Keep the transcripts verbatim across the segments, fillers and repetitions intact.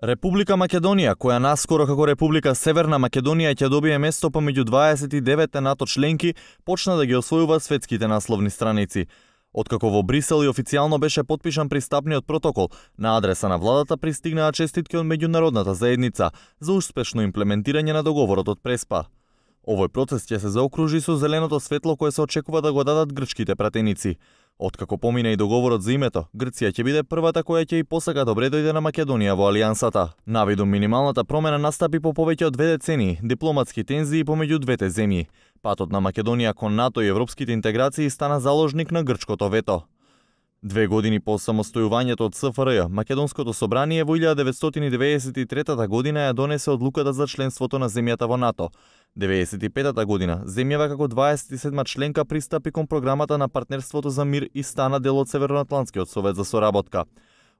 Република Македонија, која наскоро како Република Северна Македонија ќе добие место помеѓу дваесет и деветте НАТО членки, почна да ги освојува светските насловни страници. Откако во Брисел и официјално беше потпишан пристапниот протокол, на адреса на владата пристигнаа честитки од меѓународната заедница за успешно имплементирање на договорот од Преспа. Овој процес ќе се заокружи со зеленото светло кое се очекува да го дадат грчките пратеници. Откако помине и договорот за името, Грција ќе биде првата која ќе и посака добре дојде на Македонија во алијансата. Навидум минималната промена настапи по повеќе од две децении дипломатски тензии помеѓу двете земји. Патот на Македонија кон НАТО и европските интеграции стана заложник на грчкото вето. Две години по самостојувањето од СФРЈ, Македонското собрание во илјада деветстотини деветдесет и трета година ја донесе одлуката за членството на земјата во НАТО. деветдесет и петата година, земјава како дваесет и седма членка пристапи кон програмата на партнерството за мир и стана дел од Северноатлантскиот совет за соработка.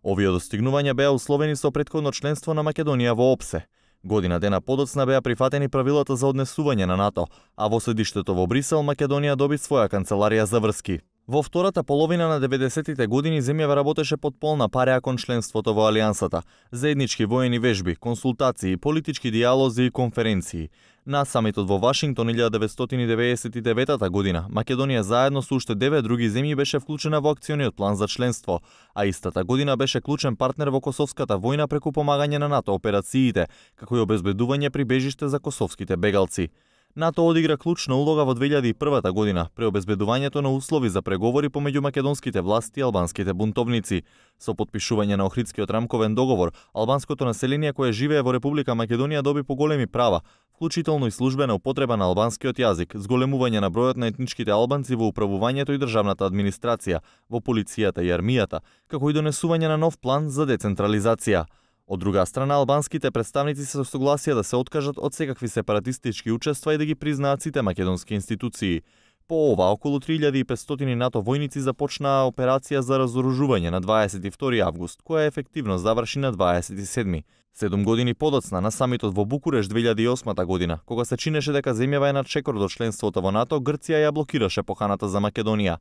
Овие достигнувања беа условени со претходно членство на Македонија во ОПСЕ. Година дена подоцна беа прифатени правилата за однесување на НАТО, а во седиштето во Брисел Македонија доби своја канцеларија за врски. Во втората половина на деветдесетите години земјава работеше под полна пареа кон членството во алијансата, заеднички воени вежби, консултации, политички диалози и конференции. На самитот во Вашингтон илјада деветстотини деветдесет и девета година, Македонија заедно со уште девет други земји беше вклучена во акциониот план за членство, а истата година беше клучен партнер во косовската војна преку помагање на НАТО операциите, како и обезбедување прибежиште за косовските бегалци. НАТО одигра клучна улога во две илјади и прва година при обезбедувањето на услови за преговори помеѓу македонските власти и албанските бунтовници. Со потпишување на Охридскиот рамковен договор, албанското население кое живее во Република Македонија доби поголеми права, вклучително и службена употреба на албанскиот јазик, зголемување на бројот на етничките албанци во управувањето и државната администрација, во полицијата и армијата, како и донесување на нов план за децентрализација. Од друга страна, албанските представници се согласија да се откажат од секакви сепаратистички учества и да ги признаат сите македонски институции. По ова, околу три илјади и петстотини НАТО војници започнаа операција за разоружување на дваесет и втори август, која ефективно заврши на дваесет и седми. Седум години подоцна на самитот во Букурешт две илјади и осма година, кога се чинеше дека земјава е на чекор до членството во НАТО, Грција ја блокираше поканата за Македонија.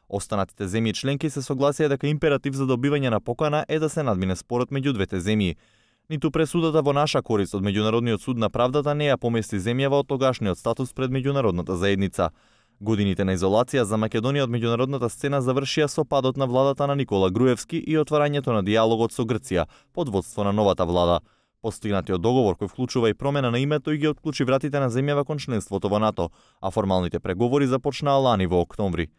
Останатите земји членки се согласија дека императив за добивање на покана е да се надмине спорот меѓу двете земји. Ниту пресудата во наша корист од Меѓународниот суд на правдата не ја помести земјава од тогашниот статус пред меѓународната заедница. Годините на изолација за Македонија од меѓународната сцена завршија со падот на владата на Никола Груевски и отварањето на диалогот со Грција под водство на новата влада. Постигнатиот договор кој вклучува и промена на името и ги отклучи вратите на земјава кон членството во НАТО, а формалните преговори започнаа лани во октомври.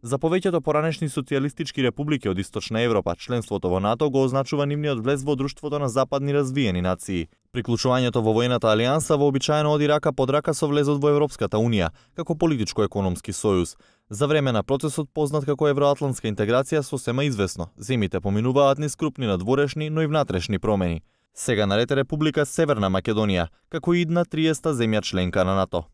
За повеќето поранешни социјалистички републики од Источна Европа, членството во НАТО го означува нивниот влез во друштвото на западни развиени нации. Приклучувањето во војната алијанса вообичаено оди рака под рака со влезот во Европската унија, како политичко-економски сојуз. За време на процесот познат како евроатлантска интеграција сосема известно, земјите поминуваат низ крупни надворешни, но и внатрешни промени. Сега наред е Република Северна Македонија, како и идна триесета земја членка на НАТО.